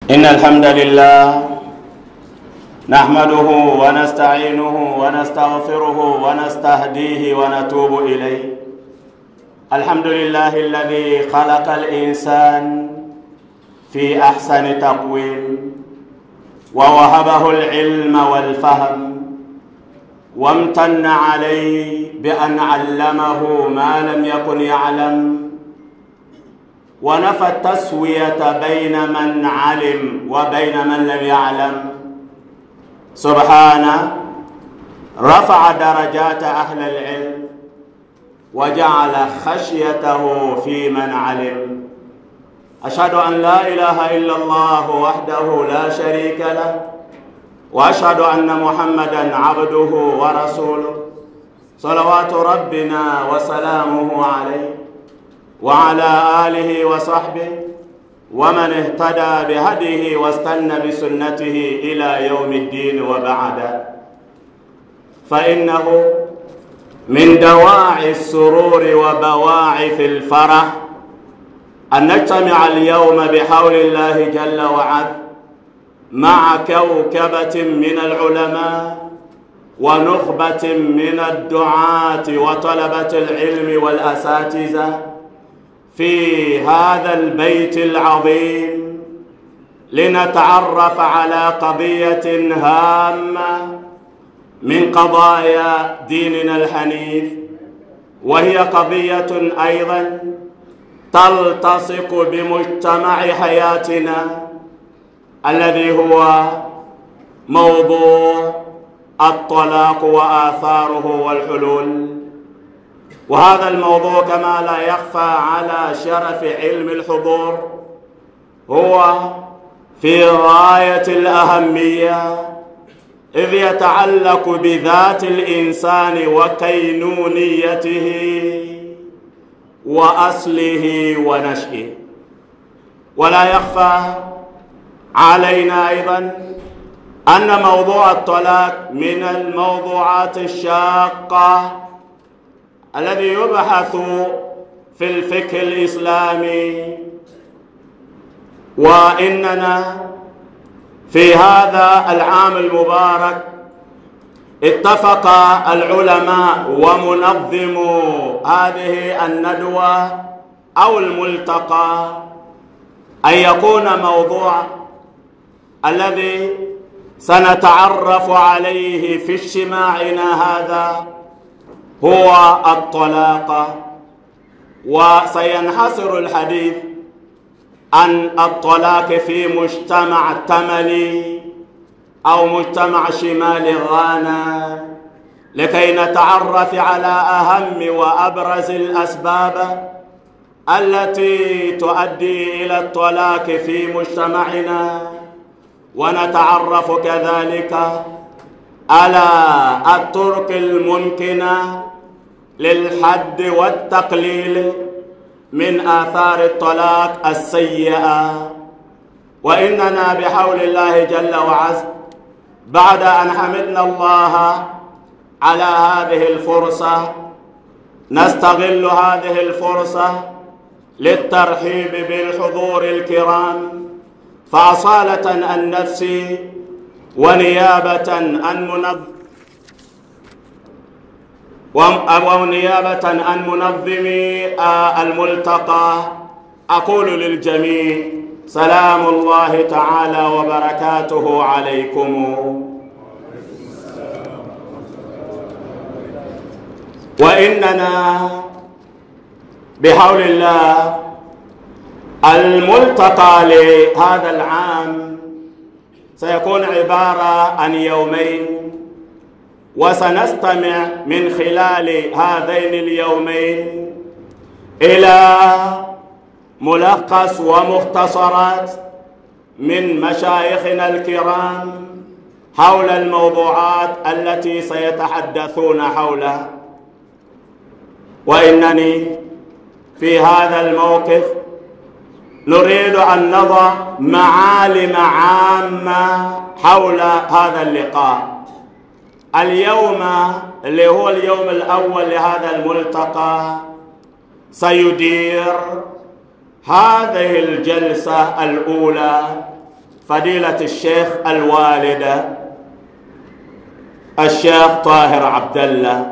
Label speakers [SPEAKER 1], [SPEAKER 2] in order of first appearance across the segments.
[SPEAKER 1] إن الحمد لله نحمده ونستعينه ونستغفره ونستهديه ونتوب إليه. الحمد لله الذي خلق الإنسان في أحسن تقويم، ووهبه العلم والفهم، وامتن عليه بأن علمه ما لم يكن يعلم، ونفى التسوية بين من علم وبين من لم يعلم. سبحانه رفع درجات أهل العلم وجعل خشيته في من علم. أشهد أن لا إله إلا الله وحده لا شريك له، وأشهد أن محمدًا عبده ورسوله، صلوات ربنا وسلامه عليه وعلى آله وصحبه ومن اهتدى بهديه واستنى بسنته إلى يوم الدين، وبعد. فإنه من دواعي السرور وبواعث الفرح أن نجتمع اليوم بحول الله جل وعز مع كوكبة من العلماء ونخبة من الدعاة وطلبة العلم والأساتذة في هذا البيت العظيم، لنتعرف على قضية هامة من قضايا ديننا الحنيف، وهي قضية أيضا تلتصق بمجتمع حياتنا الذي هو موضوع الطلاق وآثاره والحلول. وهذا الموضوع كما لا يخفى على شرف علم الحضور هو في غاية الأهمية، إذ يتعلق بذات الإنسان وكينونيته وأصله ونشئه. ولا يخفى علينا أيضا أن موضوع الطلاق من الموضوعات الشاقة الذي يبحث في الفقه الإسلامي، وإننا في هذا العام المبارك اتفق العلماء ومنظمو هذه الندوة أو الملتقى أن يكون موضوع الذي سنتعرف عليه في اجتماعنا هذا هو الطلاق، وسينحصر الحديث عن الطلاق في مجتمع تملي أو مجتمع شمال غانا، لكي نتعرف على أهم وأبرز الأسباب التي تؤدي إلى الطلاق في مجتمعنا، ونتعرف كذلك على الطرق الممكنة للحد والتقليل من آثار الطلاق السيئة. وإننا بحول الله جل وعز بعد أن حمدنا الله على هذه الفرصة نستغل هذه الفرصة للترحيب بالحضور الكرام، فأصالة عن نفسي ونيابة عن منظمي الملتقى أقول للجميع: سلام الله تعالى وبركاته عليكم. وإننا بحول الله الملتقى لهذا العام سيكون عبارة عن يومين، وسنستمع من خلال هذين اليومين إلى ملخص ومختصرات من مشايخنا الكرام حول الموضوعات التي سيتحدثون حولها. وإنني في هذا الموقف نريد أن نضع معالم عامة حول هذا اللقاء. اليوم اللي هو اليوم الأول لهذا الملتقى سيدير هذه الجلسة الأولى فضيلة الشيخ الوالد الشيخ طاهر عبد الله،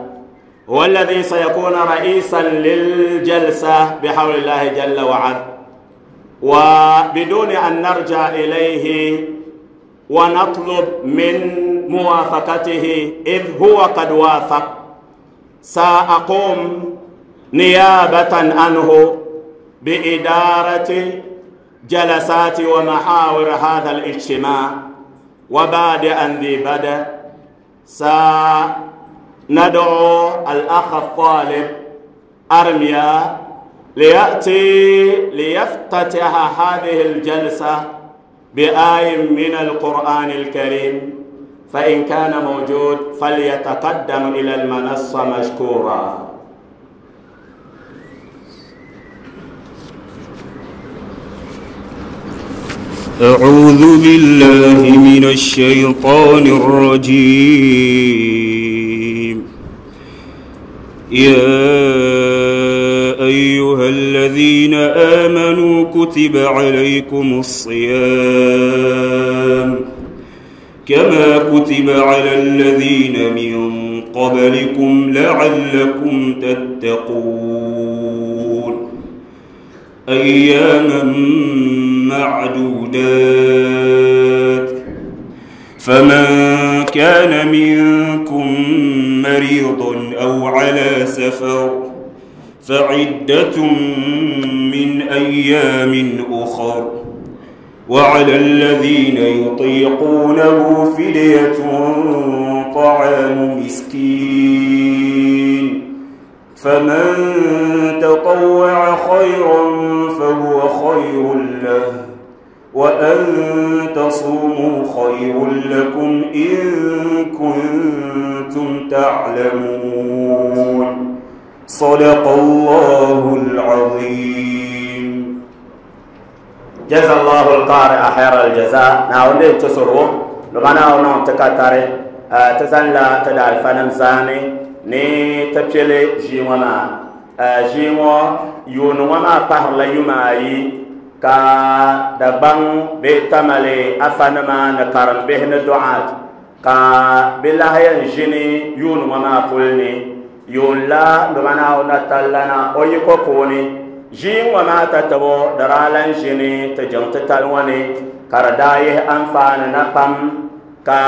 [SPEAKER 1] هو الذي سيكون رئيسا للجلسة بحول الله جل وعلا. وبدون أن نرجع إليه ونطلب من موافقته إذ هو قد وافق، سأقوم نيابة عنه بإدارة جلسات ومحاور هذا الاجتماع. وبعد أن ذي بدأ سندعو الأخ الطالب أرميا ليأتي ليفتتح هذه الجلسة بآية من القرآن الكريم، فإن كان موجود فليتقدم إلى المنصة مشكورا.
[SPEAKER 2] أعوذ بالله من الشيطان الرجيم. يا أيها الذين آمنوا كتب عليكم الصيام كما كتب على الذين من قبلكم لعلكم تتقون. أياما معدودات، فمن كان منكم مريضا أو على سفر فعدة من أيام أخر، وعلى الذين يطيقونه فدية طعام مسكين، فمن تطوع خيرا فهو خير له، وأن تصوموا خير لكم إن كنتم تعلمون. صدق الله العظيم.
[SPEAKER 1] جزا الله القارئ خير الجزاء. ناوندي تسرو لمانا ونون تكاتاري تزن لا تدال فنم زاني ni tepele jiŋɔ maa jiŋɔ yuuni ŋɔ maa pahirila yuma ayi ka Dagbaŋ bee Tamale afanima ni karimbihi ni duɣat ka bɛ lahi yɛn ʒini yuuni ŋɔ maa puli ni. Yuun la domana o na tallana o yiko puuni ʒii ŋɔ maa tatabo di daa lan ʒini ti jiŋ titali ŋɔ ni ka di daa yihi anfaani na pam ka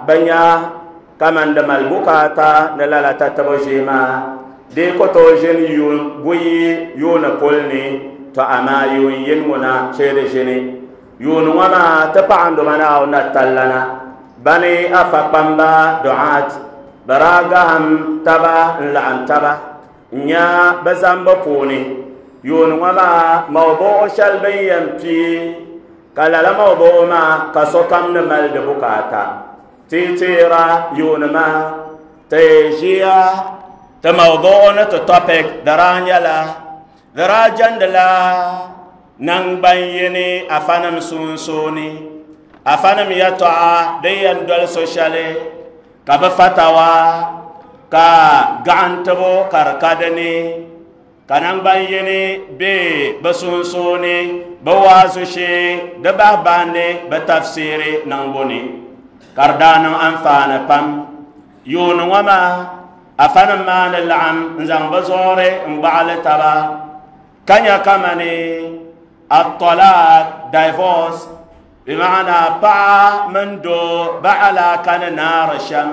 [SPEAKER 1] bɛ nya kaman di mali bukaata ni lala tatabo ʒii maa di ku tooi ʒini yuun buyi yuuni puli ni, to amaa yuun yini ŋuna chee di ʒini. Yuuni ŋɔ maa ti paɣa domana o na tallana bani afa kpamba duɣat bɛ daa gahim taba n-laɣim taba n-nya bɛ zambu puuni. Yuuni ŋɔ maa mawduɣu shɛli bɛ ni yɛn pii ka lala mawduɣu maa ka sokam ni mali di bukaata. Ti teera yuuni maa ti ʒiya ti mawduɣu ni ti topic di daa nyɛla di daa jɛndila naŋgban yini afanim sunsuuni, afanim yɛltɔɣa din yɛn doli so shɛli ka bɛ fatawa ka gaɣintibu ka di ka dini ka naŋgban yini be bɛ sunsuuni bɛ waazu shee di bahi bahindi bɛ tafsiri niŋbu ni ka di daa niŋ anfaani pam. Yuuni ŋɔ maa afanim maa ni laɣim n-zaŋ bɛ zuɣuri n-gbaɣili taba ka nya kamani at-talaq, divorce, bimaana paɣa mini doo ba alaaka ni naari shɛm.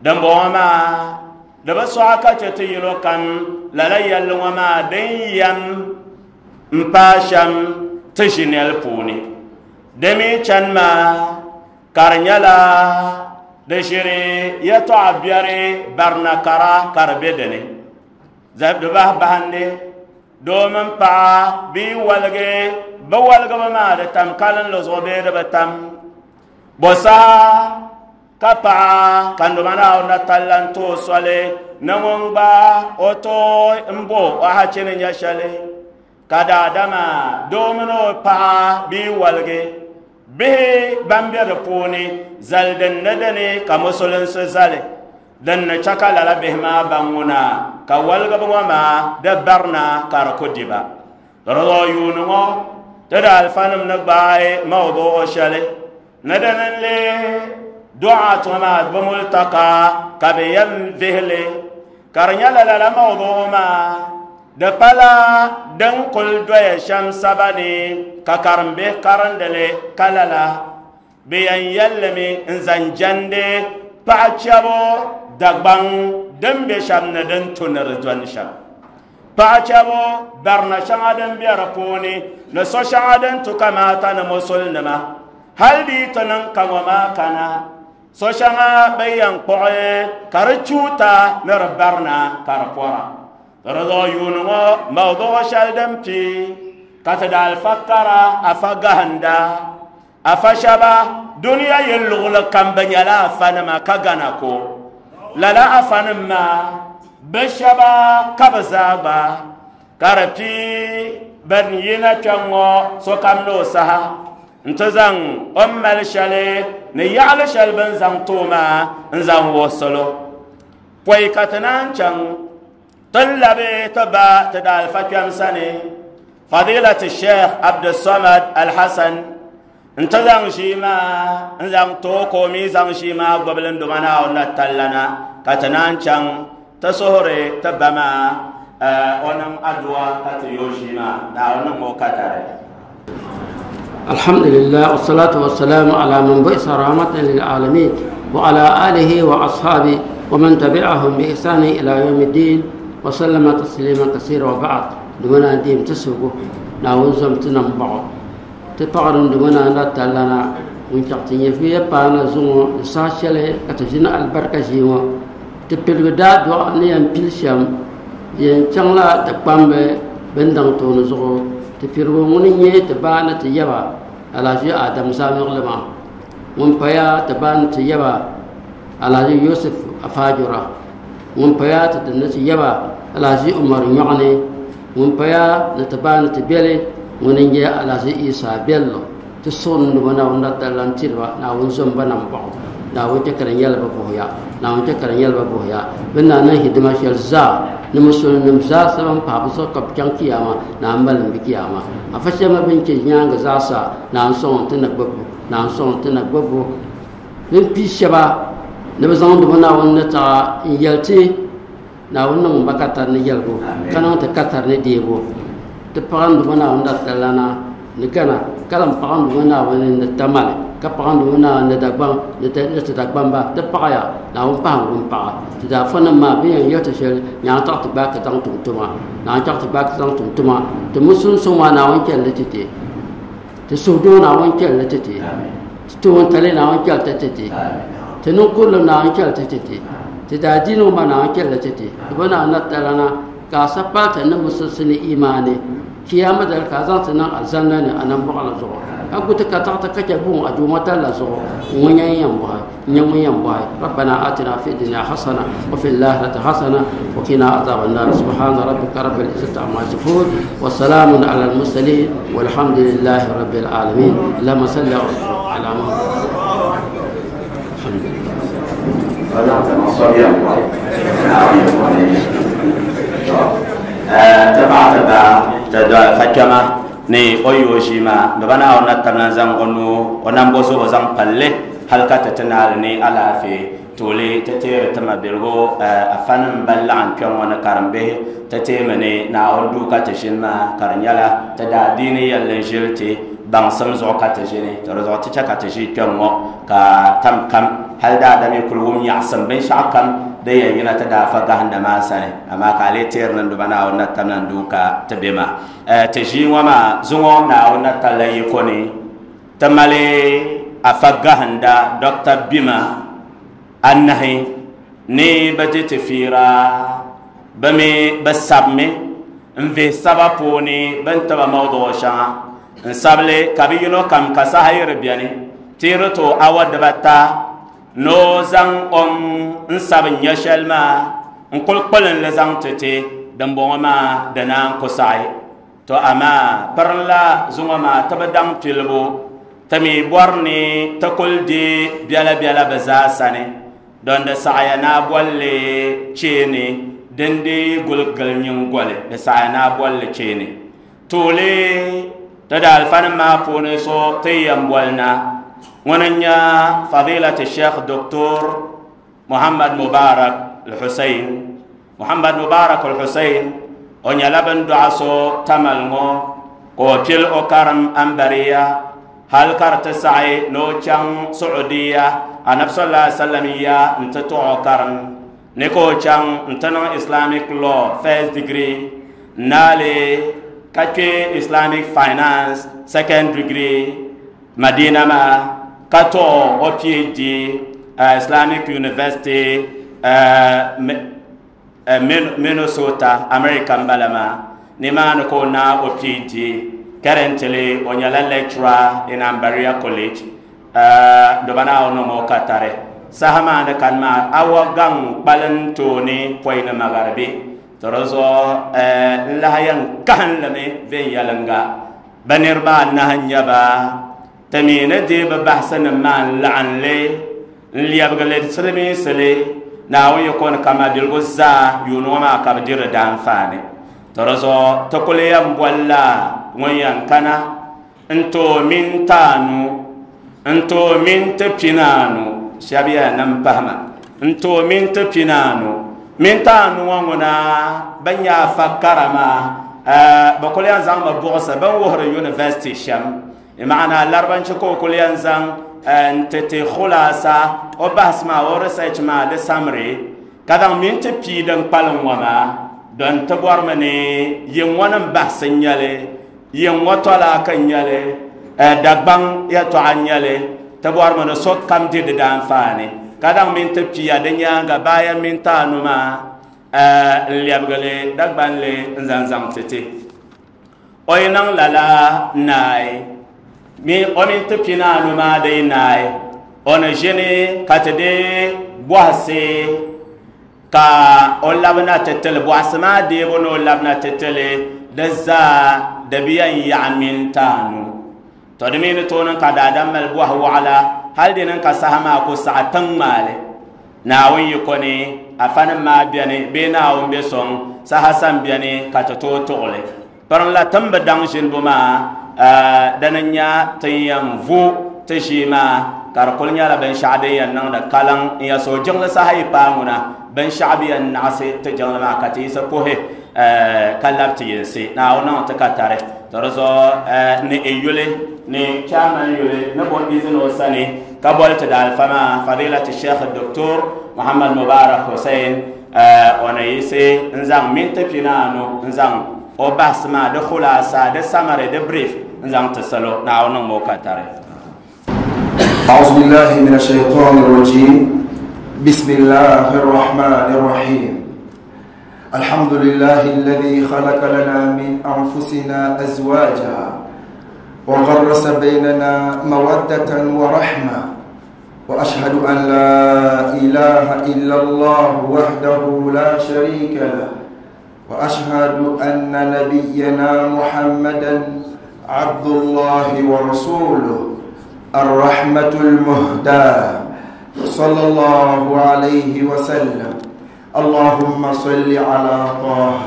[SPEAKER 1] Dimbɔŋɔ maa di bi sɔɣi ka chɛ ti yino kam lala yɛlli ŋɔ maa din yɛm m-paai shɛm ti ʒinɛli puuni. Di mi chani maa ka di nyɛla di ʒiri yɛltɔɣa biɛri barina kara ka di be dini. Di bahi bahindi doo mini paɣa bɛ yi waligi bɛ waligibu maa di tam kalinli zuɣu bee di bi tam. Bɔ saha ka paɣa ka ndoma Naawuni na talla n-ti o soli ni ŋun gba o tooi m-bo o hachi ni nya shɛli ka daadama doo mini o paɣa bɛ yi waligi bihi ban be di puuni zali din ni dini ka musulinsi zali din ni chɛ ka lala bihi maa baŋ ŋuna ka waligibu ŋɔ maa di barina ka di ku di ba. Di zuɣu yuuni ŋɔ Ti daalifanim ni gbaai mawduɣu shɛli ni dini n-lee du'aat ŋɔ maa bi multaka ka bɛ yɛn vihi li, ka di nyɛla lala mawduɣu maa di pala din kuli doya shɛm saba ni ka karimbihi karindi li ka lala bɛ yɛn yɛlli mi n-zaŋ jɛndi paɣa chɛbu Dagbaŋ din be shɛm ni din tu ni di dɔni shɛm. Paɣa chɛbu barina shɛŋa din be di puuni ni so shɛŋa din tu kamaata ni musulinima hali di yi ti niŋ ka ŋɔ maa kana so shɛŋa bɛ yɛn kpuɣi ka di chuuta ni di barina ka di pɔra. Di zuɣu yuuni ŋɔ mawduɣu shɛli din pii ka ti daalifa kara afa gahinda afa shɛba duniya yi luɣuli kam bɛ nyɛla afanima ka gana ko lala afanim maa bɛ shɛba ka bɛ zaa gba ka di pii ban yina kpɛŋ ŋɔ sokam ni o saha n-ti zaŋ o ni mali shɛli ni yaɣili shɛli bɛ ni zaŋ ti o maa n-zaŋ wuhi salo. Pɔi ka ti naan chaŋ ti ni labi ti ba ti daalifa kpɛm sani Fadilati Sheikh Abdulsamad Alhassan n-ti zaŋ ʒii maa n-zaŋ ti o ka o mi zaŋ ʒii maa gbubili n-duma Naawuni na tallana ka ti naan chaŋ ti suhuri ti ba maa o niŋ adua ka ti yo ʒii maa Naawuni niŋ o katari.
[SPEAKER 3] الحمد لله والصلاة والسلام على من بعث رحمة للعالمين وعلى آله وأصحابه ومن تبعهم بإحسان إلى يوم الدين وسلم تسليما كثيرا وبعد. دمنا ديم تسوقه ناون زمتنا بعض تفقرن دمنا لا تلنا ونشقتني في بانا زوم ساشله كتجنا البركة جيوا تبلغ دا دعاء نيم بيلشام ين شangla تقام بندang تون زغو تفيرو ŋuni nyɛ ti ba ni ti yaba Alhaji Adam Zamiɣili maa ŋun paya ti ba ni ti yaba Alhaji Yusuf Afajura ŋun paya ti ni ti yaba Alhaji Umar Nyɔɣini ŋun paya ni ti ba ni ti beli ŋuni nyɛ Alhaji Isa Bello ti suɣuni ni Naawuni la talla n-tiriba Naawuni zom ba nam bɔɣu Naawuni chɛ ka di nyɛla bɛ vuhiya Naawuni chɛ ka di nyɛla bɛ vuhiya bɛ ni niŋ hidima shɛli zaa ni musulinim zaa sa ban pahi bɛ zuɣu ka bɛ chaŋ kiyama Naawuni malim bɛ kiyama afa shɛba bɛn chɛ nyaaŋa zaa sa Naawuni sɔŋ ti na gbubbu Naawuni sɔŋ ti na gbubbu bɛn pii shɛba ni bɛ zaŋ dubu Naawuni ni taɣa n-yɛli ti Naawuni niŋ ba katari ni yɛligu ka niŋ ti katari ni deebu ti paɣa n dubu Naawuni la talana ni Gana ka lan paɣa n dubu Naawuni ni Tamale ka paɣa n dubu Naawuni ni Dagbaŋ ni ti Dagbamba ti paɣaya Naawuni pahi n paɣa ti daafanim maa bɛ yɛn yɛli ti shɛli nyaŋ taɣi ti gbaai ka zaŋ tum tuma Naawuni taɣi ti gbaai ka zaŋ tum tuma ti musulinsi maa Naawuni chɛli li ti ti ti suhudoo Naawuni chɛli li ti ti ti toon tali Naawuni chɛli ti ti ti ti niŋkurili Naawuni chɛli ti ti ti ti daadiini maa Naawuni chɛli li ti ti ti bi Naawuni na talana ka a sa pali ti ni musulinsi ni imaani kiyama dali ka a zaŋ ti niŋ alizanda ni a nambɔɣu la zuɣu a gu ti ka taɣi ti ka chɛ buɣum a duuma tali la zuɣu ŋun nyɛ yɛn bɔhi nyɛ ŋun yɛn bɔhi ربنا آتنا في الدنيا حسنة وفي الآخرة حسنة وقنا عذاب النار سبحان ربك رب العزة عما يصفون وسلام على المرسلين والحمد لله رب العالمين. اللهم صل على محمد. الحمد لله.
[SPEAKER 1] تبع تبع تدعى ni o yo ʒii maa bɛ Naawuni na tabila zaŋ o nuu o nambo zuɣu zaŋ palli hali ka ti ti naali ni alaafee tooli ti teeri ti mabiligu afanim ban laɣim kpɛ ŋɔ ni karimbihi ti teemi ni Naawuni duu ka ti ʒini maa ka di nyɛla ti daa diini yɛlli n ʒili ti baŋsim zuɣu ka ti ʒini to di zuɣu ti chɛ ka ti ʒi kpɛ ŋɔ ka tam kam hali daadam yi kuli wum nyaɣasim binshaɣu kam din yɛn yina ti daa fa gahinda maa sani amaa ka a lee teeri ni duba Naawuni na tabila n duu ka ti be maa ti ʒii ŋɔ maa zuŋɔ Naawuni na talla yiko ni ti mali afa gahinda Dr. Bima anahi ni bi di ti fiira bi mi bi sabimi n vihi saba puuni bin tiba mawduɣu shɛŋa n sabili ka bi yino kam ka saha yiri biɛni tiiri to awa dibata no zaŋ o n sabi nyɛ shɛli maa n kuli kpulinli zaŋ ti ti dimbɔŋɔ maa di naan ku saɣi to amaa pirinla zuŋɔ maa ti bi daŋ pilibu ti mi bɔri ni ti kuli di biɛla biɛla bi zaa sani don di saɣaya naa bolli cheeni din di guli gili nyingoli di saɣaya naa bolli cheeni tooli Ti daalifanim maa puuni so ti yɛn boli na, ŋuni n-nyɛ Fadilati Sheikh Doctor Muhammad Mubarak Al-Hussein. Muhammad Mubarak Al-Hussein, o nyɛla bɛ ni dɔɣi so Tamale ŋɔ, ka o pili o karim Ambariya hali ka di ti saɣi ni o chaŋ Saudiya Anabi sallallahu alaihi wasallam ya n-ti tuɣi o karim ni ka o chaŋ n-ti niŋ Islamic law first degree n-naali ka kpe Islamic finance second degree Madina maa ka tuɣi o PhD Islamic University Minnesota, America m-bala maa. Nimaani ka o naai o PhD. Currently o nyɛla lecturer in Ambaria College. Doba Naawuni niŋ o katari. Saha maa ni kani maa awa gaŋ kpalim tooni pɔi ni magharibi. To di zuɣu n lahi yɛn kahinlimi viɛnyɛliŋga. Bɛ niriba anahi n-nyɛ ba. Ti mi ni deei bɛ bahisinim maa n-laɣim li n-lɛbigi li silimiinsili Naawuni yiko ni ka mabiligu zaa yuuni ŋɔ maa ka bɛ diri di daanfaani. To di zuɣu ti kuli yɛn bolila ŋun yɛn kana n-tooi minti anu, n-tooi minti pinaanu, shɛba yɛn niŋ pahi ma, n-tooi minti pinaanu. Minti anu ŋɔ ŋuna bɛ nya afa kara maa, bɛ kuli yɛn zaŋmi buɣisi bɛ ni wuhiri university shɛm. Maana laribanchi ka o kuli yɛn zaŋ n-ti ti khulaasa o bahisi maa, o research maa di summary, ka zaŋ minti pii din kpalim ŋɔ maa don ti bɔrimi ni yin ŋɔ nim bahisi n-nyɛ li, yin ŋɔ tɔlaaka n-nyɛ li, Dagbaŋ yɛtɔɣa n-nyɛ li, ti bɔrimi ni sokam di di daanfaani, ka zaŋ minti pia di nyaaŋa bayan minti anu maa n-lɛbigi li Dagbanli n-zaŋ zaŋ ti ti. O yi niŋ lala naai, mi o mini ti pinaanu maa di yi naai, o ni ʒini ka ti deei bɔhisi ka o labina ti tili. Bɔhisi maa deebu ni o labina ti tili di zaa di bi yɛn yaɣi minti anu. To di mi ni tooi niŋ ka daadam mali bɔhi waɣila hali di niŋ ka saha maa ku saɣi tiŋ maali. Naawuni yiko ni afanim maa beni bee Naawuni be sɔŋ saha sam beni ka ti tooi tuɣi li. Pirinla ti ni bi daŋ ʒinibu maa, dini n-nya ti ni yɛn vu ti ʒii maa ka di kuli nyɛla binshɛɣu din yɛn niŋdi kaliŋ n-yɛn suhi jiŋli saha yi paai ŋuna, binshɛɣu bi yɛn naɣisi ti jiŋli maa ka ti yiɣisi puhi ka labi ti yinsi. Naawuni niŋ ti ka tari. To di zuɣu ni i yuli ni chairman yuli ni bo izini o sani ka boli ti daalifa maa Fadilati Sheikh Doctor Muhammad Mubarak Hussein o ni yiɣisi n-zaŋ minti pinaanu n-zaŋ o bahisi maa di khulaasa di summary di brief n-zaŋ ti salo. Naawuni niŋmi o ka tari.
[SPEAKER 4] أعوذ بالله من الشيطان الرجيم. بسم الله الرحمن الرحيم. الحمد لله الذي خلق لنا من أنفسنا أزواجا وغرس بيننا مودة ورحمة، وأشهد أن لا إله إلا الله وحده لا شريك له، وأشهد أن نبينا محمدا عبد الله ورسوله الرحمة المهداة صلى الله عليه وسلم. اللهم صل على طه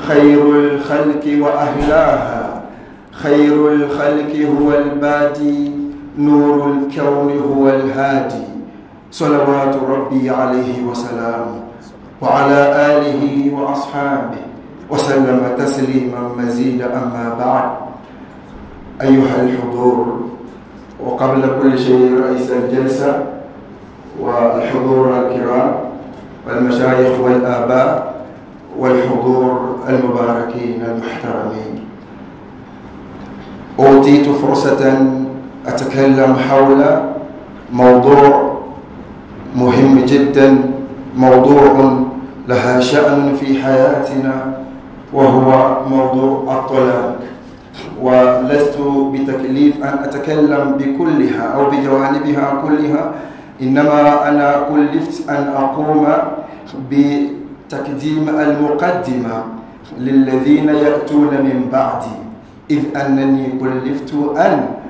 [SPEAKER 4] خير الخلق وأهلاها، خير الخلق هو البادي، نور الكون هو الهادي، صلوات ربي عليه وسلامه وعلى آله وأصحابه وسلم تسليما مزيدا. أما بعد، أيها الحضور، وقبل كل شيء رئيس الجلسة والحضور الكرام والمشايخ والآباء والحضور المباركين المحترمين، أعطيت فرصة أتكلم حول موضوع مهم جدا، موضوع لها شأن في حياتنا، وهو موضوع الطلاق. ولست بتكليف أن أتكلم بكلها أو بجوانبها كلها، إنما أنا كلفت أن أقوم بتقديم المقدمة للذين يأتون من بعدي، إذ أنني كلفت أن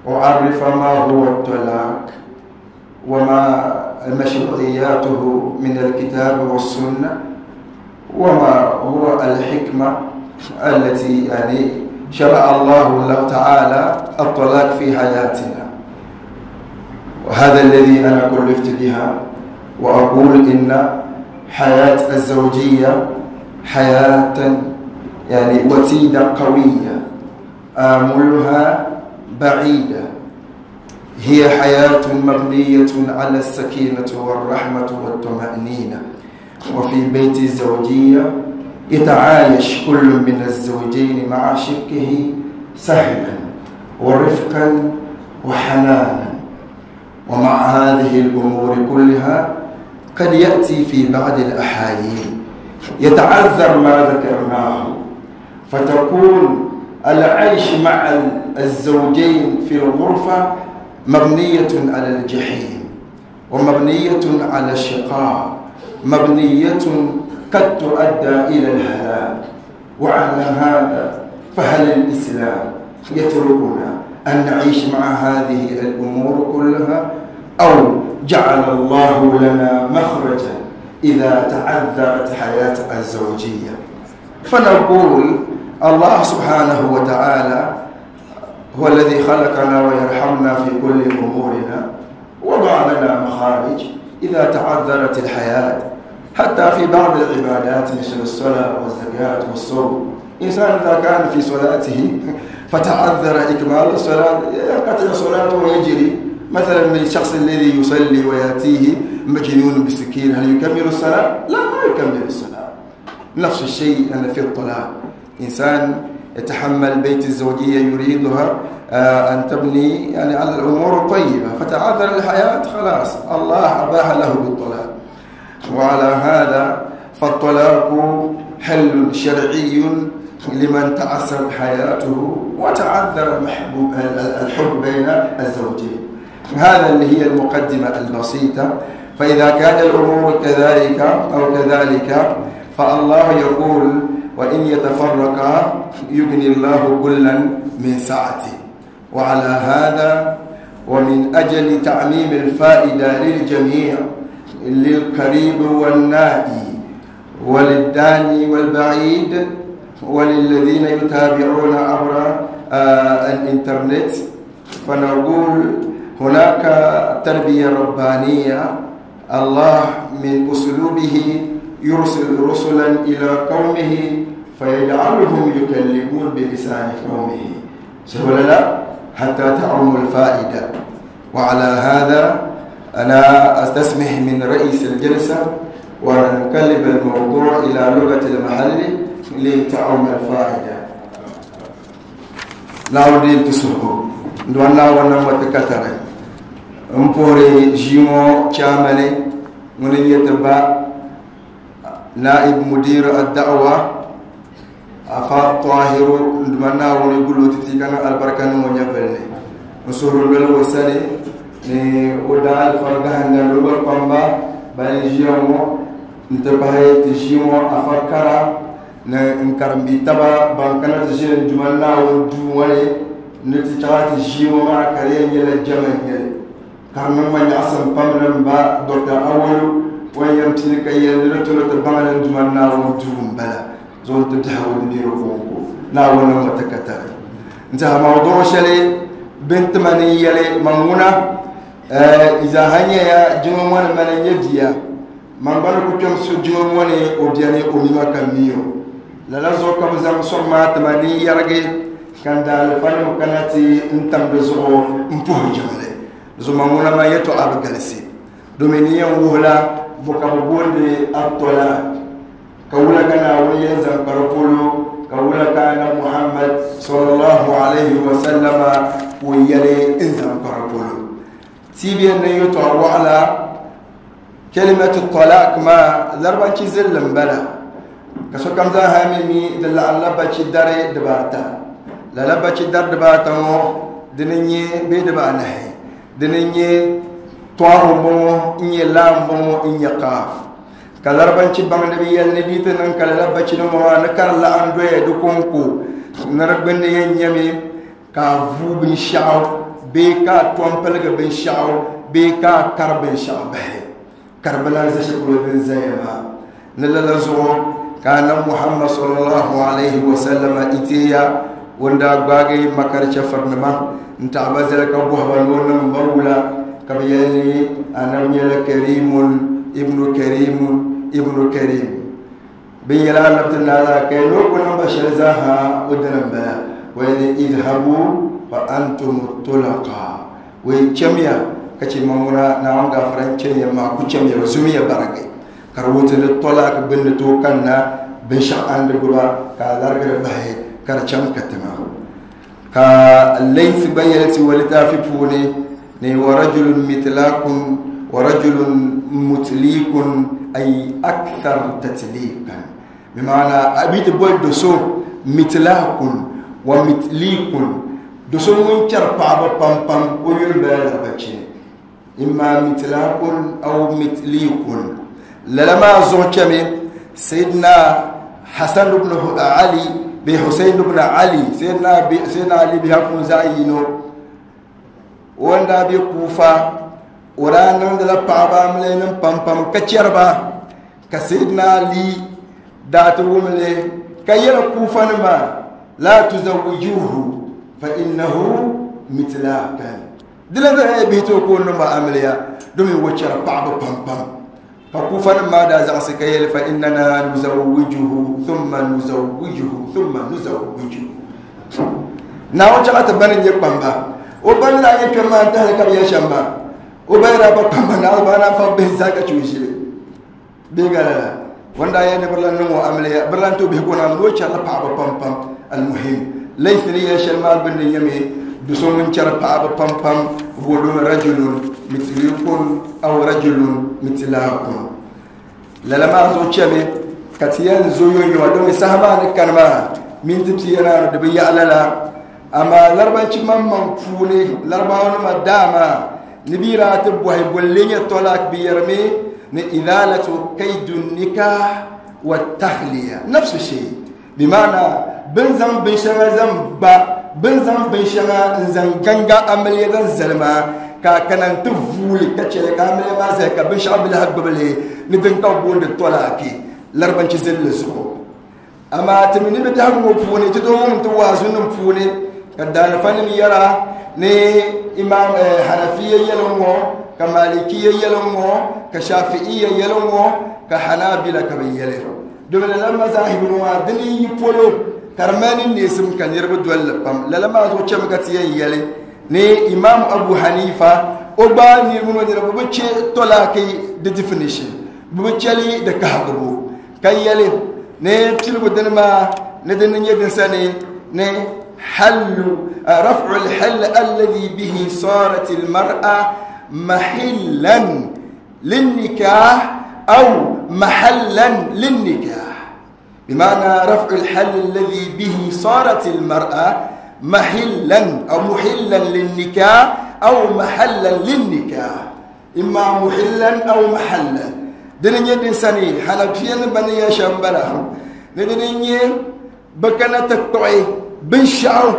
[SPEAKER 4] أعرف ما هو الطلاق وما مشروعياته من الكتاب والسنة، وما هو الحكمة التي شرع الله تعالى الطلاق في حياتنا. وهذا الذي أنا كلفت بها، وأقول إن حياة الزوجية حياة يعني وتيدة قوية، آملها بعيدة، هي حياة مبنية على السكينة والرحمة والطمأنينة. وفي بيت الزوجية يتعايش كل من الزوجين مع شقه سهلا ورفقا وحنانا. ومع هذه الأمور كلها قد يأتي في بعض الأحايين يتعذر ما ذكرناه، فتكون العيش مع الزوجين في الغرفة مبنية على الجحيم، ومبنية على الشقاء، مبنية قد تؤدى إلى الهلاك. وعلى هذا فهل الإسلام يتركنا أن نعيش مع هذه الأمور كلها، أو جعل الله لنا مخرجا إذا تعذرت حياة الزوجية؟ فنقول الله سبحانه وتعالى هو الذي خلقنا ويرحمنا في كل أمورنا، وضع لنا مخارج إذا تعذرت الحياة، حتى في بعض العبادات مثل الصلاة والزكاة والصوم. إنسان إذا كان في صلاته فتعذر إكمال الصلاة ينقطع صلاته ويجري. مثلا من الشخص الذي يصلي ويأتيه مجنون بسكين، هل يكمل الصلاة؟ لا، ما يكمل الصلاة. نفس الشيء أنا في الطلاق، إنسان يتحمل بيت الزوجية يريدها أن تبني يعني على الأمور الطيبة، فتعذر الحياة خلاص الله أباح له بالطلاق. وعلى هذا فالطلاق حل شرعي لمن تعسرت حياته وتعذر المحبوب الحب بين الزوجين. هذا اللي هي المقدمة البسيطة. فإذا كان الأمور كذلك أو كذلك، فالله يقول وإن يتفرقا يغني الله كلا من سعته. وعلى هذا ومن أجل تعميم الفائدة للجميع، للقريب والنائي وللداني والبعيد وللذين يتابعون عبر الإنترنت، فنقول هناك تربية ربانية. الله من أسلوبه يرسل رسلا إلى قومه فيجعلهم يكلمون بلسان قومه، ولا لا؟ حتى تعم الفائدة. وعلى هذا أنا أستسمح من رئيس الجلسة ونقلب الموضوع إلى لغة المحل لتعم الفائدة. نعود تسهو دوانا ونمتكتر مبوري جيمو كامل من يتبع نائب مدير الدعوة أفا طاهر دوانا ونقولوا تتيكنا البركة ونيفلني نصور الوسني ni o da alfarga hanga lugar pamba bani jiamo ntabahay tijimo afakara na nkarambi taba bankana tijin jumanna wo duwale nti chati jimo ma kare nyela jaman nyele karman ma nyasam pamnan ba Dr. Awalu wayam tilka yel to to bangana jumanna wo duum bala zon tadhawu diru konko na wona matakatare nta mawdu shale bint mani yele manguna إذا هنيا جمعون من يبيا من بالك كم سجمعون أبياني أميما كميو لا زوج كم زام سرما تماني يرجع كان دال فن مكانتي انتم بزرو مبوه جمله زمامونا ما يتو أبجلسي دومينيا وهلا بكابون دي أبطلا كولا كان أولي زام كربولو كولا كان محمد صلى الله عليه وسلم ويلي إنزام كربولو تيبين يتو على كلمة الطلاق ما ضربان زلم بلا كسو كم ذا هامي دل على باتشي داري دباتا لا لا باتشي دار دباتا مو دنيني بي دبانه دنيني طواه مو إني لام مو إني قاف كالربان شي بان نبي يل نبي تنن كلا باتشي نمو نكر لا اندوي دكونكو نربن ينيمي كافو بن شاو بيكا تومبلغ بن شاو بيكا كربن شاو به كربلاء زشكلو بن زيما نلالزو كان محمد صلى الله عليه وسلم إتيا Ŋun daa gbaagi makari chɛfurinima n-taɣi ba zali ka bɔhi ba ni o niŋ ba wula, ka bɛ yɛli ni Anabi nyɛla Karimun ibnu Karimun ibnu Karim. Bɛ ni yɛli Anabi ti naai la ka ni o ku niŋ ba shɛli zaaha o dini m-bala. O yɛli ni idhabu fa antum tulaqa. O yɛn chamiya ka chɛ ma ŋuna Naawuni gaafara n-chɛ ya maa ku chamiya ba zumiya barigi. Ka di wuhi ti ni tɔlaaki gbunni tooi kanna binshɛɣu a ni di gbuba ka a larigiri bahi ka di chaŋ katiŋa. Ka Layth gba yɛli ti o litaafi puuni ni wa rajulun mitlakun wa rajulun mutlikun ay akthar tatliqan, bi maana a bi ti boli do so mitlakun wa mitlikun, do so ŋun chɛri paɣaba pam pam o yuli bala larabachi ni. Imma mitlakun aw mitlikun. Lala maa zuɣu chɛmi Sayyidina Hasan ibn Ali bee Husayn ibn Ali, Sayyidina Ali bihi puuni zaɣ yino, o ni daa be Kufa o daa niŋdila paɣaba amiliyanim pam pam ka chɛri ba, ka Sayyidina Ali daa ti wum li ka yɛli Kufanima, La tuzawwijuhu fa innahu mitlakan. Di lan zaa nyɛla bihi tooi ka o niŋ ba amiliya domin o chɛri paɣaba pam pam. Ka Kufanim maa daa zaɣisi ka yɛli, Fa innana nuzawwijuhu thumma nuzawwijuhu thumma nuzawwijuhu. Naawuni chaŋ ti ba ni nyɛ kpamba. O ba ni daa nyɛ kpɛm maa n-tahili ka bɛ yɛli shɛm maa. O ba ni daa ba kpamba Naawuni ba naan fa bihi zaa ka chɛ o ʒili. Bee ka lala, o ni daa yɛli ni bɛ lan niŋ o amiliya, bɛ lan ti o bihi ka o naan ni o chɛrila paɣaba pampam. Almuhim, Layth ni yɛli shɛli maa gbunni nyɛmi, do so ŋun chɛri paɣaba pampam, huwa domi rajulun mitlikun aw rajulun mitlakun. Lala maa zuɣu chɛmi ka ti yɛn zo yonyoma domi saha maa ni kani maa minti pia naanu di bi yaɣi lala. Amaa Laribanchi maŋmaŋ puuni, Laribawanima daa maa ni bɛ yi daa ti bɔhi bolli nyɛ tɔlak, bɛ yɛrimi ni izalatu kaidu nikah wa tahliya nafsu shay, bi maana bɛ ni zaŋ binshɛŋa zaŋ ba, bɛ ni zaŋ binshɛŋa n-zaŋ ganga amiliya zaŋ zali maa, ka a kana nti vuuli ka chɛ li ka amiliya maa zali ka binshɛɣu bi lahi gbubi li ni din ka bɛ booni tɔlaaki Laribanchi zilli zuɣu. Amaa ti mi ni bɛ biɛhigu ŋɔ puuni, ti tooi wum ti waazunim puuni ka daalifanim yɛra ni Imaam Hanafiya yɛli ŋ-ŋɔ, ka Malikiya yɛli ŋ-ŋɔ, ka Shafi'iya yɛli ŋ-ŋɔ, ka Hanabila ka bɛ yɛli. Domi lala mazahibu ŋɔ maa dini yi polo ka di mali ni neesim ka niriba doli li pam. Lala maa zuɣu chɛmi ka ti yɛn yɛli ni Imaam Abu Hanifa o gba niriba ŋɔ niriba bi chɛ tɔlaaki di definition, bɛ bi chɛ li di kahigibu. Ka yɛli ni piligu dini maa ni di ni nyɛ din sani ni hallu raf'u al-hall alladhi bihi sarat al-mar'a mahillan lin-nikah aw mahallan lin-nikah. Bima'na raf'u al-hall alladhi bihi sarat al-mar'a mahillan aw muhillan lin-nikah aw mahallan lin-nikah. Imma muhillan aw mahallan. Dini nyɛ din sani Hanafiya ni bani ya shɛm bala ni dini nyɛ bɛ kana ti kpuɣi binshɛɣu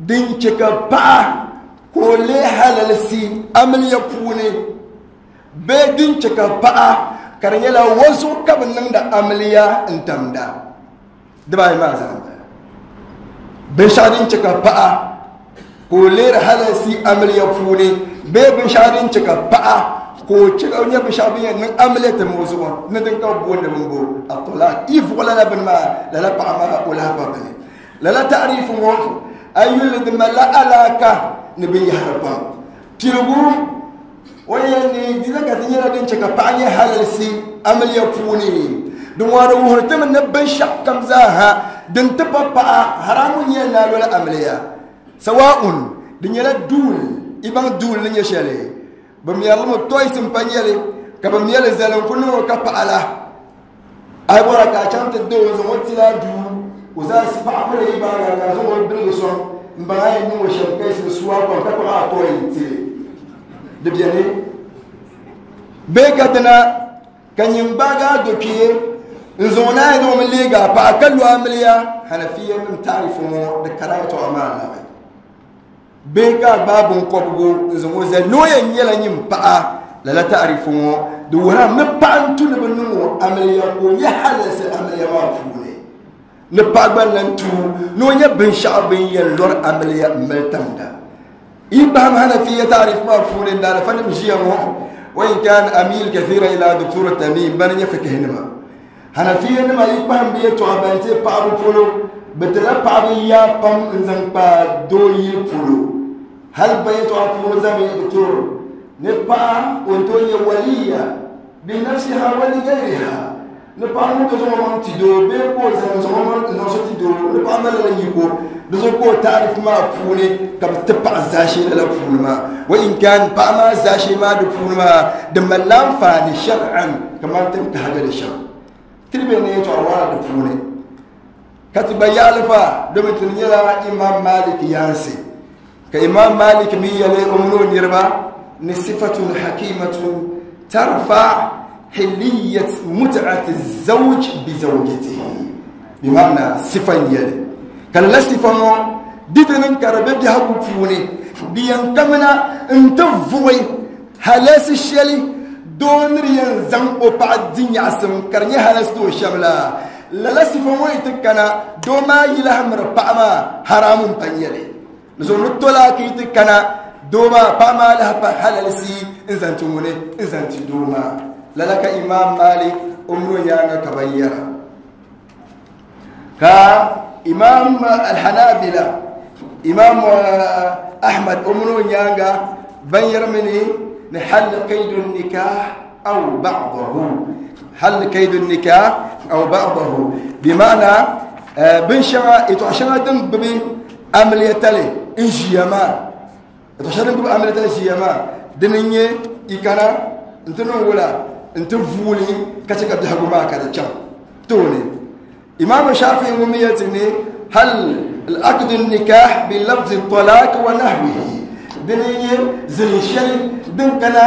[SPEAKER 4] din chɛ ka paɣa ka o leei halalisi amiliya puuni bee din chɛ ka paɣa ka di nyɛla o zuɣu ka bɛ niŋdi amiliya n-tamda. Dibaayi maa zaa m-bala. Binshɛɣu din chɛ ka paɣa ka o leeri halalisi amiliya puuni bee binshɛɣu din chɛ ka paɣa ka o chɛ ka o nyɛ binshɛɣu bin yɛn niŋ amiliya tim o zuɣu ni din ka bi booni bin bo atɔlak yi vuɣi lala bini maa lala paɣa maa o lahi pa bini. Lala taarifu ŋɔ a yi yuli di malila alaaka ni binyahari pam. Piligu o yɛli ni di zaka ti nyɛla din chɛ ka paɣa nyɛ halalisi amiliya puuni. Din ŋɔ di wuhiri ti mi ni binshɛɣu kam zaaha din ti pa paɣa haramu nyɛ ni a loli amiliya. Sawa'un di nyɛla duul, i baŋ duul ni nyɛ shɛli, bɛ mɛri li mi toys m-pa nyɛli ka bɛ mɛli zali n-ku niŋ o ka paɣa la. A yi bɔra ka a chaŋ ti doo n-zaŋ o tila duu, o zaɣisi paɣa kuli yi baaga ka a zaŋ o biligi sɔŋ m-baŋ a yɛn niŋ o shɛm ka yiɣisi su a kom ka kpuɣi a tɔi n-tili. Di beni bee ka dina ka nyin gbaagi a dokpee n-zaŋ o naai zaŋ o mi leegi a paɣa ka lo amiliya. Hanafiyanim taarifu ŋɔ di kara yɛtɔɣa maa labi. Bee ka a gbaai biŋkɔbigu n-zaŋ o zali ni o yɛn nyɛla nyin paɣa, lala taarifu ŋɔ di wuhirimi ni paɣa n-tu ni bɛ niŋ o amiliya ka o nyɛ halalisi amiliya maa puuni. Ni paɣa gba lan tu ni o nyɛ binshaɣu bin yɛn lɔri amiliya m mali tamda. Yi kpahim Hanafiya taarif maa puuni n daalifanim ʒiya ŋɔ wa in kan amil kathira ila Doctor Tamim bani nyɛ fikihinima. Hanafiya nima yi kpahim bɛ yɛltɔɣa ban ti paɣaba polo bɛ tila paɣaba yaa pam n zaŋ kpa doo yili polo. Hali ba yɛltɔɣa puuni zami Doctor ni paɣa o ni tooi nyɛ waliya bi nafsiha wa li gayriha ni paɣa ŋun ti zaŋ o maŋ ti doo bee ka o zaŋ zaŋ o maŋ zaŋ so ti doo ni paɣa malila yiko di zuɣu ka o taarif maa puuni ka bi ti paɣa zaashee lala puuni maa wa in kan paɣa maa zaashee maa di puuni maa di malila anfaani shar'an kamani ti ni kahigili shɛm tiri bɛ ni yɛltɔɣa waɣala di puuni ka ti gba yaɣali fa domin ti nyɛla Imam Malik yaansi ka Imam Malik mi yɛli o mini o niriba ni sifatun hakimatun tarfa hiliyat mut'ati zawj bi zawjatihi bi ma'ana sifan yɛli ka lala sifa ŋɔ di ti niŋ ka di be biɛhigu puuni di yɛn kamina n ti vuɣi halasi shɛli doo ni di yɛn zaŋ o paɣa di nyaɣisim ka di nyɛ halasi ti o shɛm la lala sifa ŋɔ yi ti kana doo maa yi lahi miri paɣa maa haramu n pa nyɛli di zuɣu ni tolaaki yi ti kana doo maa paɣa maa lahi pa halalisi n zaŋ ti ŋuni n zaŋ ti doo maa lala ka Imam Malik o mini o nyaaŋa ka ban yɛra ka Imam Al-Hanabila Imam Ahmad o mini o nyaaŋa ban yɛrimi ni ni hal qaydu nikah aw ba'dahu hal qaydu nikah aw ba'dahu bi ma'ana bin shɛŋa yɛltɔɣa shɛŋa din gbubi amiliyatali n ʒiya maa yɛltɔɣa shɛŋa din gbubi amiliyatali ʒiya maa dini n nyɛ i kana n ti niŋ wula n ti vuuli ka chɛ ka biɛhigu maa ka di chaŋ tooni Imam Shafi'i ŋun mi yɛli ti ni hal al-aqd an-nikah bi lafz at-talaq wa nahwihi dini n nyɛ zilin shɛli din kana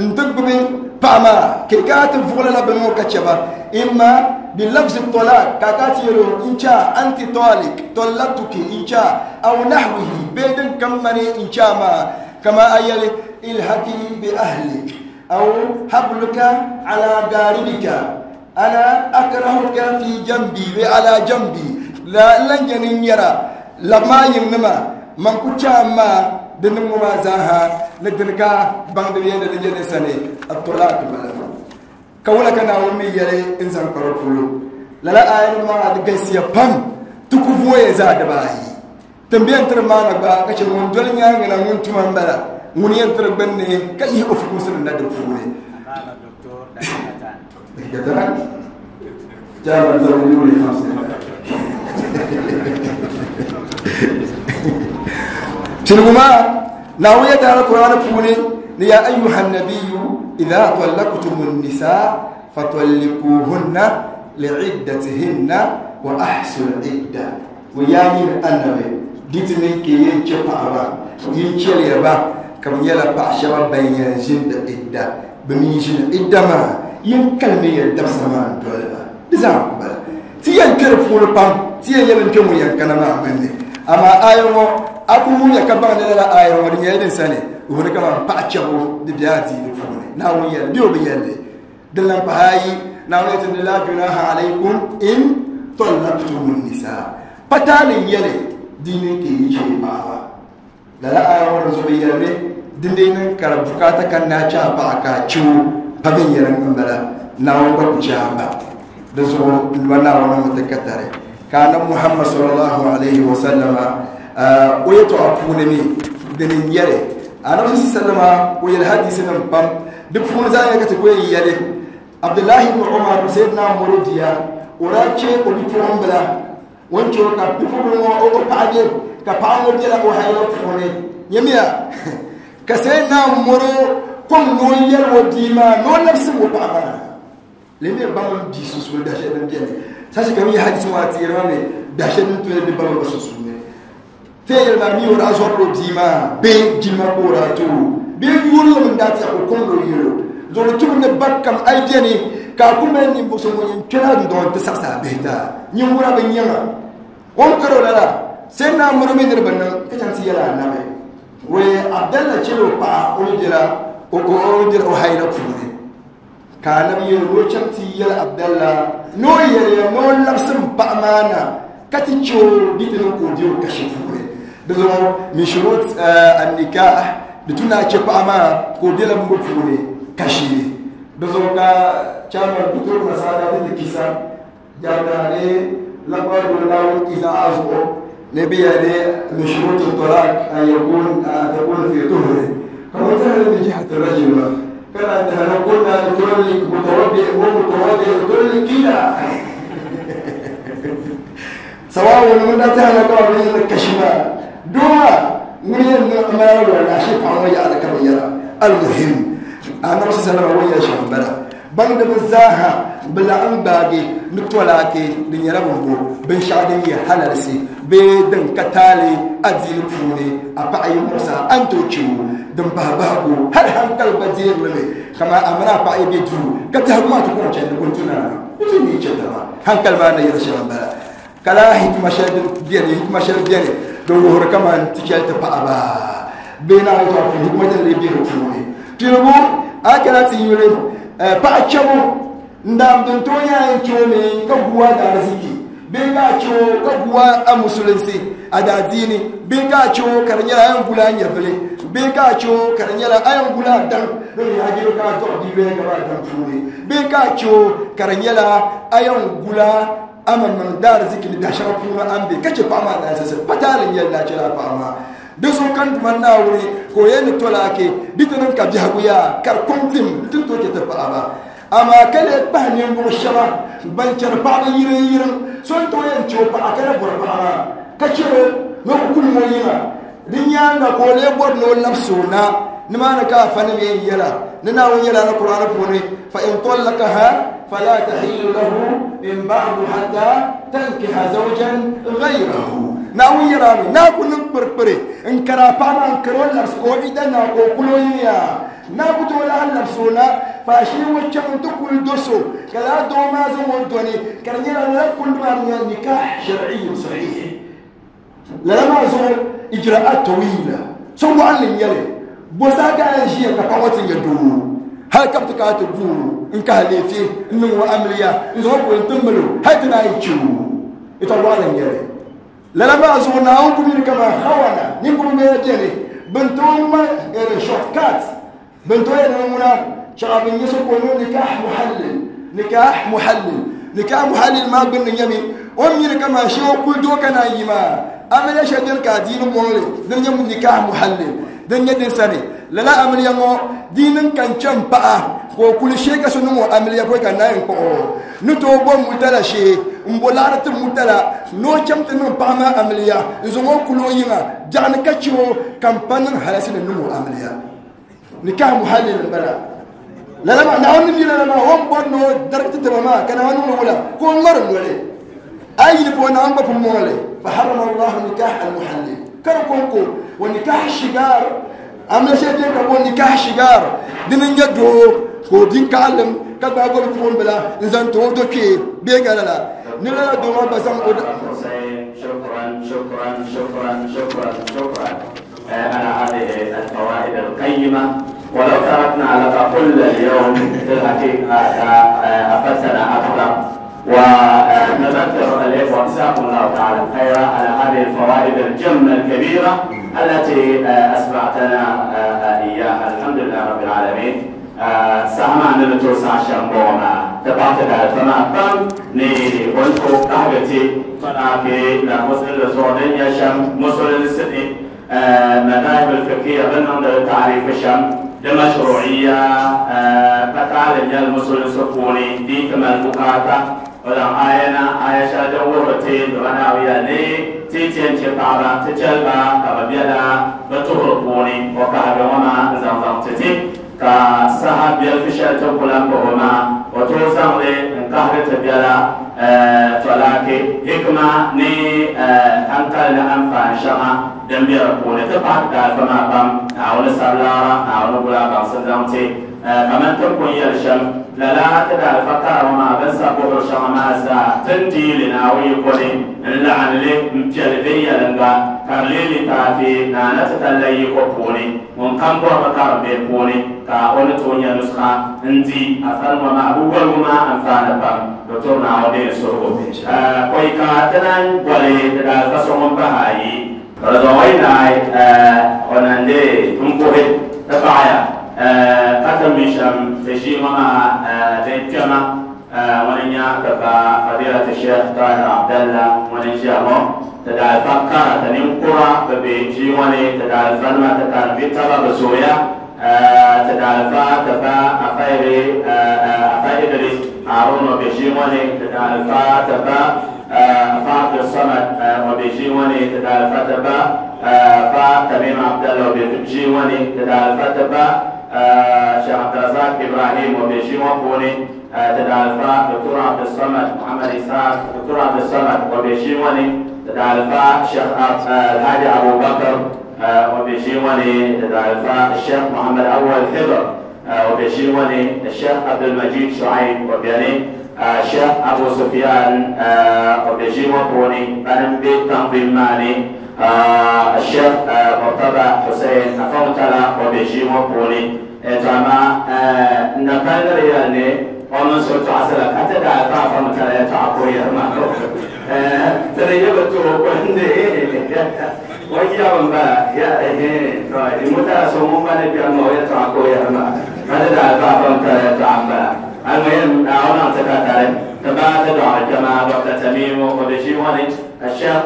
[SPEAKER 4] n ti gbubi paɣa maa ka i kana ti vuɣili la bini ŋɔ ka chɛ ba imma bi lafz at-talaq ka a kana ti yɛli o n cha anti talik talaqtuki n cha aw nahwihi bee din kam mani n cha maa kama a yɛli ilhaki bi ahlik aw habluka ala garibika ana akrahuka fi jambi bee ala jambi la n lan nyɛ ni nyɛra labi maa yiŋnima man ku chaam maa di niŋ ŋɔ maa zaaha ni dini ka baŋdi bɛ yɛli di nyɛ ni sani at-talaq bala ka wula ka Naawuni mi yɛli n zaŋ kpa di polo lala aya nim maa di galisiya pam ti ku vooya zaa dibaayi tin bɛ yɛn tiri maana gba ka chɛ ŋun doli nyaanga na ŋun tuma n bala ŋun yɛn tiri gbunni ka yihi o fukumsi nim na di puuni Piligu maa Naawuni yɛli taala Qur'ani puuni ni ya ayyuhan nabiyyu idha tallaqtumun nisaa fatallikuhunna li'iddatihinna wa ahsul idda wa yaa nyini annabi di ti niŋ ka yɛn chɛ paɣaba yin chɛliya ba ka bɛ nyɛla paɣa shɛba ban yɛn ʒini di idda bɛ mi ʒini idda maa yin kalimi ya dabisa maa n doli ba di zaa ku bala ti yɛn kpe di puuni pam ti yɛn yɛli n kpe ŋun yɛn kana maa gbunni amaa aya ŋɔ a ku wumya ka baŋ ni lala aya ŋɔ di nyɛla din sani wuhiri kaman paɣa chɛbu di be adiini puuni Naawuni yɛli bee o bi yɛli din lan pahi ayi Naawuni yɛli ti ni la junaha alaykum in tallaqtumun nisaa pa taali n yɛli di niŋ ka yi chɛ paɣaba lala aya ŋɔ di zuɣu yɛlimi din dee niŋ ka di bukaata ka naa chɛ a paɣa ka a chɛ o pa viɛnyɛliŋ n bala Naawuni gba ku chɛ a ba di zuɣu n ba Naawuni ŋɔ ti ka tari ka anabi Muhammad sallallahu alaihi wa sallama o yɛltɔɣa puuni mi dini n yɛli anabi sallama o yɛli hadisi nim pam di puuni zaa nyɛla ka ti ku yɛn yɛli Abdullahi ibn Umar Sayyidina Muridiya o daa chɛ o bipuɣimbila o ni chɛ o ka bipuɣimbila ŋɔ o paɣa bɛ ka paɣa ŋɔ bɛla o hayila puuni nyamiya ka Sayyidina Muri kom ni o yɛli o bia maa ni o labisi o paɣa maa lemi ba mini bia sunsuuni biɛhi shɛli din bɛni sashi ka mi hadisi ŋɔ a teeri ma mi biɛhi shɛli din toli di ba mini ba sunsuuni te yɛli maa mi o daa zɔrila o bia maa bee jilima ka o daa ti o bee yurilim n daa ti ka o kom ni o yɛl o zuɣu tubu ni ba kam a yi bɛni ka a ku mali ninvuɣu so ŋun yɛn kpɛla dundɔŋ n ti saɣisi a bihi taa nyingura bi nyɛŋa o ni kari o lala sai naa muri mi ni di bi niŋ ka chaŋ ti yɛli anabi wee Abdalla chɛla o paɣa o ni bɛla o hayila puuni. Ka anabi yɛli ni o chaŋ ti yɛli Abdallah ni o yɛliya ni o labisi m paɣa maa na ka ti che o di ti niŋ ka o be o kashi puuni. Di zuɣu min shurut an-nikah di tu ni a che paɣa maa ka o bela m bo puuni kashi ni. Di zuɣu ka chairman ku tooi nasara ti ti kisa jami'a ne lambar do naawuni izaa zuɣu ni bɛ yɛli ni min shurut at-talaq an yakun an takun fi tuhri ka o tahiri min jihati rajul kana tahiri kunna litullik mutawaddi wa mutawaddi litullik kila sawa'un ŋun daa tahiri ka bi yɛli kashi maa doo ŋun yɛn niŋ amana wala la shi paɣa ŋɔ yaɣali ka bi yɛra al-muhim anabi sallallahu alaihi wa sallam shɛm bala baŋdiba zaaha bi laɣim gbaagi ni tolaaki di nyɛla bin bo binshɛɣu din nyɛ halalisi bee din ka taali adiini puuni a paɣa yi muɣisa a ni tooi chɛ o din pahi bahigu hali hankali gba deerili mi kamani a mini a paɣa yi be duu ka biɛhigu maa ti kɔŋ chandi kuntu naani di ti ni chɛ taba hankali maa ni yɛli shɛm m-bala ka laa hikima shɛli din beni hikima shɛli beni din wuhiri kamani ti chɛli ti paɣaba bee naawuni tɔɣa puuni hikima din lee be di puuni piligu a kana ti yuli paɣa chɛbu n daam din tooi nyɛ a yɛn chɛ o mi ka gu a daariziki bee ka a chɛ o ka gu a musulinsi a daadiini bee ka a chɛ o ka di nyɛla a yɛn guli a nyɛvili bee ka a chɛ o ka di nyɛla a yɛn guli a daŋ din nyɛ a jiro ka a dɔɣi bia bee ka a daŋ puuni bee ka a chɛ o ka di nyɛla a yɛn guli a maŋmaŋ daariziki ni dahi shɛŋa puuni a ni be ka chɛ paɣa maa naanzasi pataali n-nyɛli ni a chɛla a paɣa maa di zuɣu ka n Duuma Naawuni ka o yɛli ni tolaaki di ti niŋ ka biɛhigu yaa ka di kɔŋ tim ti ni tooi chɛ ti paɣaba amaa ka lee kpahi ninvuɣ shɛba ban chɛri paɣaba yiriŋ yiriŋ so n tooi yɛn chɛ o paɣa ka na bɔri paɣa maa ka chɛr o ni o ku kulim o yiŋa di nyaaŋa ka o lee bɔri ni o labisi o na nimaani ka afanim yɛn yɛla ni Naawuni yɛla Alkur'aani puuni fa in tallaqaha fala tahillu lahu min ba'du hatta tankiha zawjan ghayrahu Naawuni yɛla mi naa ku niŋ kpirikpiri n kari a paɣa maa n kari o labisi ka o ida naa ka o kuli o yiŋa naa ku tooi lahi labisi o na faashee ŋɔ chaŋ n ti kuli do so ka lala doo maa zaŋ o dɔni ka di nyɛla lala kundi maa di nyɛla nikah shar'iyyun sahih lala maa zuɣu ijra'at tawila so waɣanli n nyɛli bo saha ka a yɛn ʒiya ka paɣa ŋɔ ti nyɛ doo hali ka bi ti kana ti guuro n kahi leefi n niŋ o amiliya n zaŋ o kuli n ti mali o hali ti naan yi chɛ o yɛtɔɣ waɣanli n nyɛli lala maa zuɣu Naawuni ku mini kamani hawana ninvuɣu bɛla bɛni bin tooi ŋma shortcut bin tooi yɛn niŋ ŋuna chaɣa bin nyɛ so ka o niŋ nikah muhallil nikah muhallil nikah muhallil maa gbunni nyɛmi o ni mini kamani shee o kuli doo ka naan yi maa amiliya shɛli bɛni ka adiini mɔŋli din nyɛ nikah muhallil din nyɛ din sani lala amiliya ŋɔ di niŋ ka n chɛ n paɣa ka o kuli shee ka so niŋ o amiliya pɔi ka naan kpuɣi o ni tooi bo mutala shee n bo laɣari ti mutala ni o chaŋ ti niŋ paɣa maa amiliya n zaŋ o kuli o yiŋa biɛɣuni ka chɛ o ka n pa niŋ halasi ni niŋ o amiliya nikah muhallil n bala lala maa Naawuni ni mi lala maa o ni bɔri ni o darigi ti taba maa ka Naawuni niŋ wula ka o ŋmari noli a yi yili puuni Naawuni gba pun mɔŋli fa harrama Allahu nikah al-muhallil ka di kɔŋko wa nikah shigar amiliya shɛli bɛni ka bo nikah shigar dini n nyɛ doo ka o bin kaɣalim ka gbaai gɔbi puɣumbila n zaŋ ti o do kpee bee ka lala ni lala doo maa gba zaŋ o
[SPEAKER 1] شكرا شكرا شكرا شكرا شكرا على هذه الفوائد القيمة ولو تركنا لك كل اليوم في الحقيقة أفدتنا أكثر ونذكر الإخوة جزاكم الله تعالى خيرا على هذه الفوائد الجمة الكبيرة التي أسمعتنا إياها الحمد لله رب العالمين سهما نلتو ساشن بوما تبعت فما قام ني ونكو قهوتي فناكي لا مسلم لزودين يشم مسلم سني مذاهب الفقهية بنهم تعريف الشم لمشروعية بتعلم المسلم سكوني دي كما البكاتا ولا آينا آية شادة ورتين وانا وياني تيتين شطابة تجلبة كببيلا بتهربوني وكهبة وما زمزم تتي كسها بيلفشل تقولان بهما وتوزن لي انقهر تبيلا تلاكي حكمة ني أنكال أنفان شما دمبير بوني تبعك دال فما بام أو نسالارا أو نقولا بام سنزمتي فمن تكون يلشم للا تدال فكر وما بس أبوه شما ما سا تندي لنا ويقولي اللعن لي مجلبية لنغا Ka di leei litaafi Naana ti tali la yiko puuni, ŋun kam bɔri mi karim bihi puuni ka o ni tooi nya nuskha n-di afali ŋɔ maa. Bɛ woligu maa anfaani pam. Doctor Naawuni deei n suhigu. Pɔi ka ti naan boli ti daalifa so ŋun pahi ayi. Ka di zaŋ o yi naai o na n-deei n-puhi ti paɣiya ka ti mi shɛm ti ʒii ŋɔ maa di kpɛma. Ŋuni n-nya ti ba Fadilati Sheikh Tahir Abdallah ŋuni n-ʒiya ŋɔ. Ti daalifa kara ti ninkura bi be ʒii ŋɔ ni, ti daalifanima ti karim bɛ taba bi zooya. Ti daalifa ti ba Afa Idris Harun o be ʒii ŋɔ ni, ti daalifa ti ba Afa Abdul Samad o be ʒii ŋɔ ni, ti daalifa ti ba Afa Tamim Abdallah o be ʒii ŋɔ ni, ti daalifa ti ba Sheikh Abdulrazak Ibrahim o be ʒii ŋɔ puuni, ti daalifa Doctor Abdul Samad Muhammad Ishaq, Doctor Abdul Samad o be ʒii ŋɔ ni, ti daalifa Sheikh Alhaji Abu Bakr o be ʒii ŋɔ ni, ti daalifa Sheikh Muhammad Awal Hibr o be ʒii ŋɔ ni, Sheikh Abdul Majid Shuaib o beni, Sheikh Abu Sufyan o be ʒii ŋɔ puuni, bani m-be tanzim maa ni, Sheikh Murtaba Hussein Afawtala o be ʒii ŋɔ puuni. To amaa n na pali ni di yɛli ni o mini so tɔɣisira ka ti daa fa Afawtala yɛtɔɣa ka o yɛri maa ti di yi bi tooi ko n-di o yɛbu m-bala ya to Imutala so ŋun gba ni kpɛm ma o yɛtɔɣa ka o yɛri maa ka ti daa fa Afawtala yɛtɔɣa m-bala. Almuhim Naawuni niŋ ti katari ti baai ti dɔɣiri kpɛma Doctor Tamimu o be ʒii ŋɔ ni, Sheikh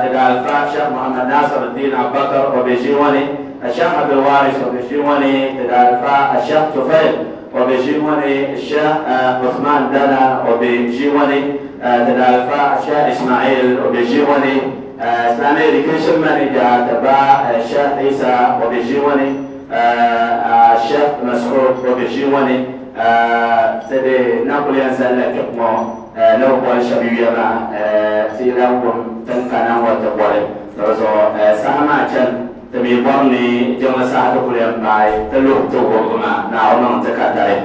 [SPEAKER 1] ti daalifa Sheikh Muhammad Nasiruddin Abubakar o be ʒii ŋɔ ni, Sheikh Abdul Waris o be ʒii ŋɔ ni, ti daalifa Sheikh Tufail o be ʒii ŋɔ ni, Sheikh Uthman Dana o be ʒii ŋɔ ni, ti daalifa Sheikh Ismail o be ʒii ŋɔ ni, Islamic Education Manager ti ba Sheikh Isa o be ʒii ŋɔ ni, Sheikh Mas'ud o be ʒii ŋɔ ni, ti di na kuli yɛn zali la kpɛbu ŋɔ ni bi boli shɛba yuya maa ti yi lahi wum ti ni kana ŋɔ ti boli. Di zuɣu saha maa chani ti mi bɔri ni jiŋli saha ti kuli yɛn paai ti luhi ti wuhibu maa Naawuni niŋ ti katari.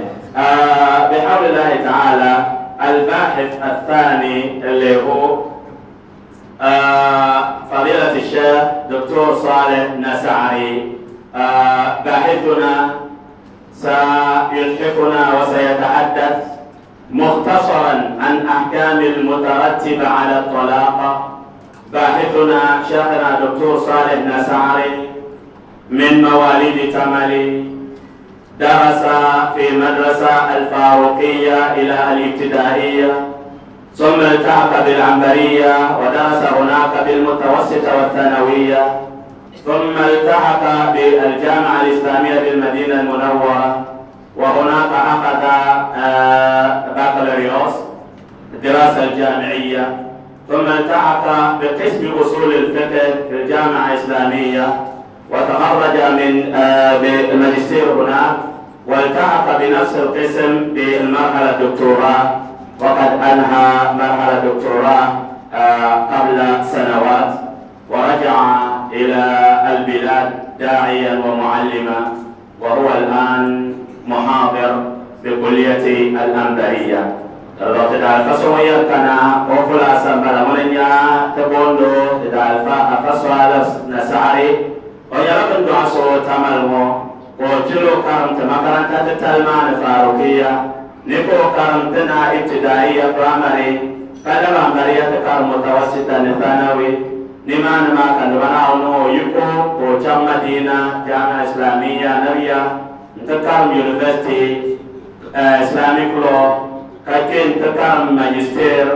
[SPEAKER 1] Bihawlillahi ta'ala al-bahith al-thani n-leei o فضيلة الشيخ دكتور صالح نسعري. باحثنا سيتحفنا وسيتحدث مختصرا عن أحكام المترتبة على الطلاق. باحثنا شيخنا دكتور صالح نسعري من مواليد تمالي، درس في مدرسة الفاروقية إلى الابتدائية، ثم التحق بالعنبرية ودرس هناك بالمتوسطة والثانوية، ثم التحق بالجامعة الإسلامية بالمدينة المنورة، وهناك أخذ بكالوريوس الدراسة الجامعية، ثم التحق بقسم أصول الفقه في الجامعة الإسلامية وتخرج من بالماجستير هناك، والتحق بنفس القسم بالمرحلة الدكتوراه، وقد أنهى مرحلة الدكتوراه قبل سنوات، ورجع إلى البلاد داعيا ومعلما، وهو الآن محاضر بكلية الأنبرية. تدعى كان وخلاصا بلمنيا تبوندو تدعى فصل نسعري ويرقم دعسو تملمو وتلو كرم تمكرن تتلمان فاروقية نكو كرمتنا ابتدائية برامري كلام أنبرية كرم متوسطة ثانوي نمان ما كان بناونو يكو وجم مدينة جامعة إسلامية نبيا تكرم يونيفرسيتي إسلاميك لو كاكين تكرم ماجستير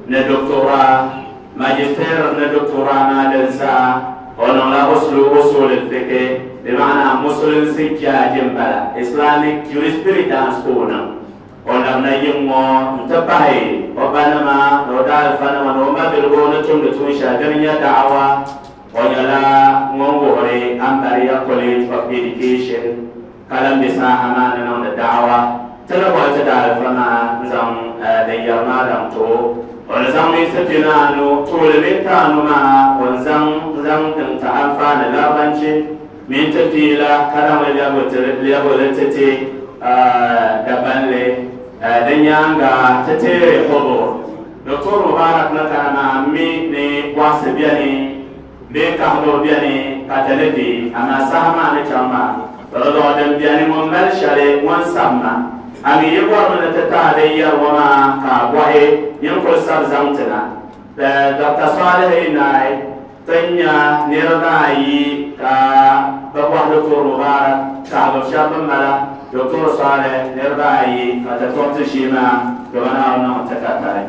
[SPEAKER 1] ندكتوراه ماجستير ندكتوراه ما دنسا ونولا أصول الفقه بمعنى مسلم سجا جنبلا إسلاميك jurisprudence كونا ونحن يمو انتبهي وبنما نودال فنما نوما بالغونة تمتوشا دنيا دعوة ونلا نغوري أمبريا College of Education كلام بساحة ما ننون الدعوة تلقوا تدال فما نزام ديرنا دمتو ونزام يتبنانو طول بيتانو ما ونزام زام تنتعفان لابنشي من تبتيلا كلام ليبولتتي دبنلي دنيانغا تتيري حضور دكتور مبارك نكانا مي ني واسبياني Bee kahibu beni ka ti ni deei, amaa saha maa ni chaŋ maa, di zuɣu din beni ŋun mali shɛli ŋun sabima. A mi yi bɔrimi ni ti tahi din yɛri ŋɔ maa ka a bɔhi nyin kuli sabi zaŋ ti na. Dr. Salihi yi naai, ti ni nya niriba ayi ka bɛ bɔhi Doktor Mubarak kahibu shɛba bɛ mala Doktor Salih niriba ayi ka ti tuɣi ti ʒii maa domin a niŋ ti ka tali.